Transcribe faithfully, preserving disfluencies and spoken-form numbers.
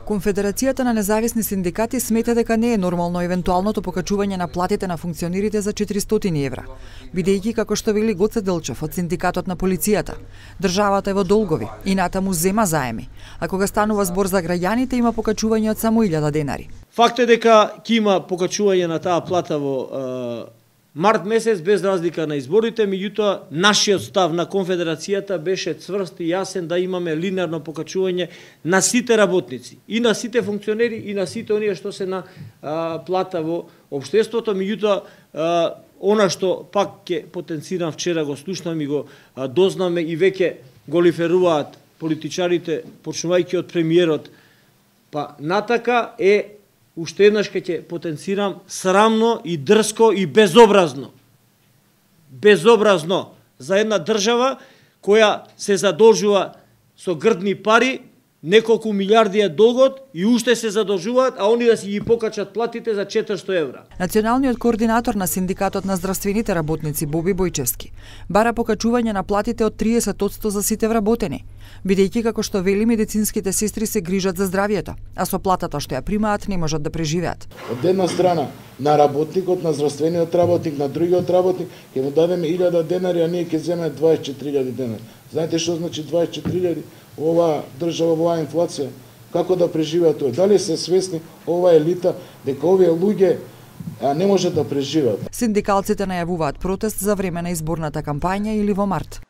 Конфедерацијата на независни синдикати смета дека не е нормално евентуалното покачување на платите на функционерите за четиристотини евра, бидејќи како што вели Гоце Делчев од синдикатот на полицијата, државата е во долгови и натаму зема заеми, а кога станува збор за граѓаните има покачување од само илјада денари. Факт е дека ќе има покачување на таа плата во март месец без разлика на изборите, меѓутоа нашиот став на Конфедерацијата беше цврст и јасен да имаме линеарно покачување на сите работници, и на сите функционери, и на сите оние што се на а, плата во општеството, меѓутоа а, она што пак ќе потенцирам, вчера го слушнам и го а, дознаме и веќе го лиферуваат политичарите, почнувајќи од премиерот, па натака е уште еднаш ќе потенцирам срамно и дрско и безобразно. Безобразно за една држава која се задолжува со грдни пари, неколку милиарди е долгот и уште се задолжуваат, а они да си ги покачат платите за четиристотини евра. Националниот координатор на синдикатот на здравствените работници Боби Бојчевски бара покачување на платите од триесет одсто за сите вработени, бидејќи како што вели медицинските сестри се грижат за здравјето, а со платата што ја примаат не можат да преживеат. Од една страна на работникот, на здравствениот работник, на другиот работник ќе му дадеме илјада денари, а ние ќе земеме дваесет и четири илјади денари. Знаете што значи дваесет и четири илјади? Ова држава, ова инфлација, како да преживеат тоа? Дали се свесни ова елита дека овие луѓе не можат да преживеат? Синдикалците најавуваат протест за време на изборната кампања или во март.